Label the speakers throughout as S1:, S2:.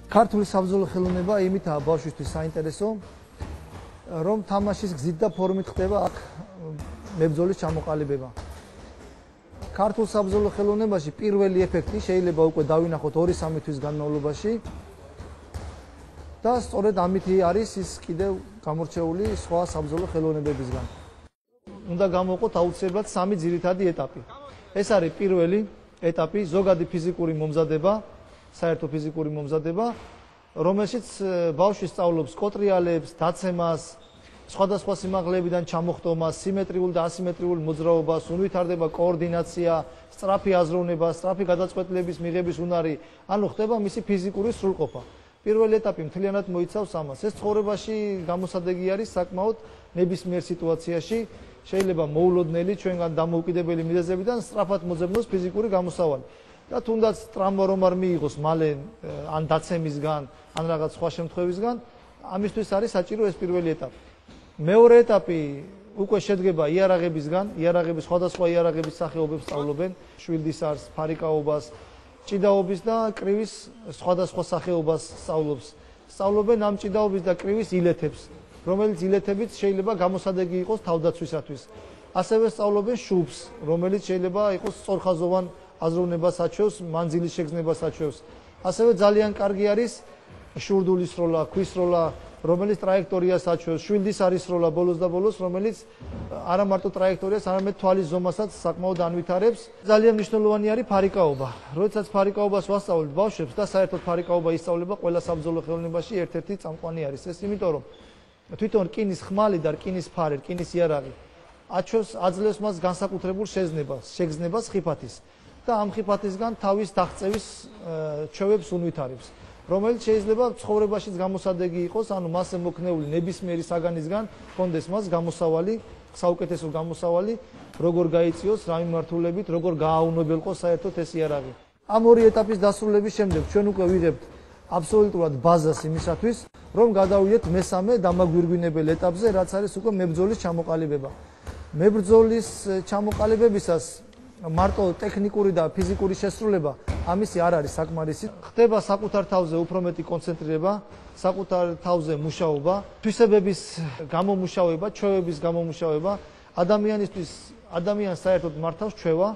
S1: ქართული საბრძოლო ხელოვნება იმითაა ბავშვისთვის საინტერესო, რომ თამაშის გზით და ფორმით ხდება აქ მებრძოლის ჩამოყალიბება. ქართულ საბრძოლო ხელოვნებაში პირველი ეფექტი შეიძლება უკვე დავინახოთ 2-3 თვის განმავლობაში და სწორედ ამითი არის ის კიდევ გამორჩეული სხვა საბრძოლო ხელოვნებებისგან. უნდა გამოვყოთ აუცილებლად 3 ძირითადი ეტაპი. ეს არის პირველი ეტაპი, ზოგადი ფიზიკური მომზადება, საერთო ფიზიკური მომზადება, რომელშიც ბავშვი სწავლობს კოტრიალებს, დაცემას, სხვადასხვა სიმაღლებიდან ჩამოხტომას, სიმეტრიულ და ასიმეტრიულ მოძრაობას, უნვითარდება კოორდინაცია, სწრაფი აზროვნება, სწრაფი გადაწყვეტილების მიღების უნარი, ანუ ხდება მისი ფიზიკური სრულყოფა. პირველი ეტაპი მთლიანად მოიცავს ამას. ეს ცხოვრებაში გამოსადეგი არის საკმაოდ ნებისმიერ სიტუაციაში, შეიძლება მოულოდნელი ჩვენგან დამოუკიდებელი მიზეზებიდან სწრაფად მოძებნოს ფიზიკური გამოსავალი. და თუნდაც ტრამვა რომ არ მიიღოს მალე ან დაცემისგან, ან რაღაც სხვა შემთხვევისგან, ამისთვის არის საჭირო ეს პირველი ეტაპი. მეორე ეტაპი უკვე შედგება იარაღებისგან, იარაღების სხვადასხვა იარაღების სახეობებს სწავლობენ, შვილდის არს, ფარიკაობას, ჭიდაობის და კრივის სხვადასხვა სახეობას სწავლობენ ამ ჭიდაობის და კრივის ილეთებს, რომელიც ილეთებიც შეიძლება გამოსადეგი იყოს თავდაცვისათვის. ასევე სწავლობენ შუბს, რომელიც შეიძლება იყოს სწორხაზოვან აზროვნებას აჩვევს, მანძილის შეგრძნებას აჩვევს. ასევე ძალიან კარგი არის შურდულის სროლა, ქვის სროლა, რომელიც ტრაექტორიას აჩვევს, შვილდის არის სროლა ბოლოს და ბოლოს, რომელიც არა მარტო ტრაექტორიას, არამედ თვალის ზომასაც საკმაოდ ანვითარებს. ძალიან მნიშვნელოვანი არის ფარიკაობა. როდესაც ფარიკაობას ვასწავლებთ ბავშვებს და საერთოდ ფარიკაობა ისწავლება ყველა საბრძოლო ხელოვნებაში ერთ-ერთი წამყვანი არის. ეს იმიტომ რომ თვითონ რკინის ხმალი და რკინის ფარი, რკინის იარაღი აძლევს მას განსაკუთრებულ შეგრძნებას ხიფათის. და ამ ხიფათისგან თავის დაღწევის ჩვევებს უნვითარებს, რომელიც შეიძლება ცხოვრებაშიც გამოსადეგი იყოს, ანუ მასზე მოქნეული ნებისმიერი საგანისგან კონდეს მას გამოსავალი, საუკეთესო გამოსავალი, როგორ გაიწიოს, რა მიმართულებით, როგორ გააუნებელყოს საერთოდ ეს იარაღი. ამ ორი ეტაპის დასრულების შემდეგ ჩვენ უკვე ვიღებთ აბსოლუტურად ბაზას იმისათვის, რომ გადავიდეთ მესამე დამაგვირგვინებელ ეტაპზე, რაც არის უკვე მებრძოლის ჩამოყალიბება. მებრძოლის ჩამოყალიბებისას მარტო ტექნიკური და ფიზიკური შესრულება ამისი არ არის საკმარისი. ხდება საკუთარ თავზე უფრო მეტი კონცენტრირება, საკუთარ თავზე მუშაობა, თვისებების გამომუშავება, ჩვევების გამომუშავება, ადამიანს საერთოდ მართავს ჩვევა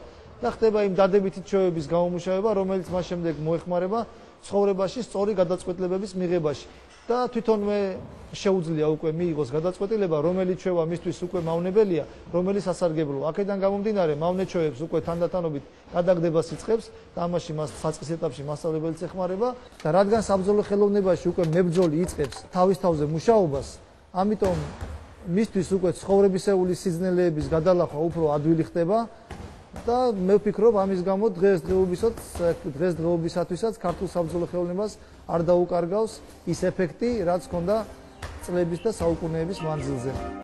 S1: და ხდება იმ დადებითი ჩვევების გამომუშავება, რომელიც მას შემდეგ მოეხმარება ცხოვრებაში სწორი გადაწყვეტილებების მიღებაში. და თვითონვე შეუძლია უკვე მიიღოს გადაწყვეტილება, რომელი ჩვევა მისთვის უკვე მავნებელია, რომელი სასარგებლოა. აქედან გამომდინარე, მავნე ჩვევებს უკვე თანდათანობით გადაგდებას იწყებს და ამაში მას საწყის ეტაპში მასწავლებელიც ეხმარება და რადგან საბრძოლო ხელოვნებაში უკვე მებრძოლი იწყებს თავის თავზე მუშაობას, ამიტომ მისთვის უკვე ცხოვრებისეული სიძნელეების გადალახვა უფრო ადვილი ხდება და მე ვფიქრობ ამის გამო დღესდღეობისათვისაც ქართულ საბრძოლო ხელოვნებას არ დაუკარგავს ის ეფექტი, რაც ჰქონდა წლების და საუკუნეების მანძილზე.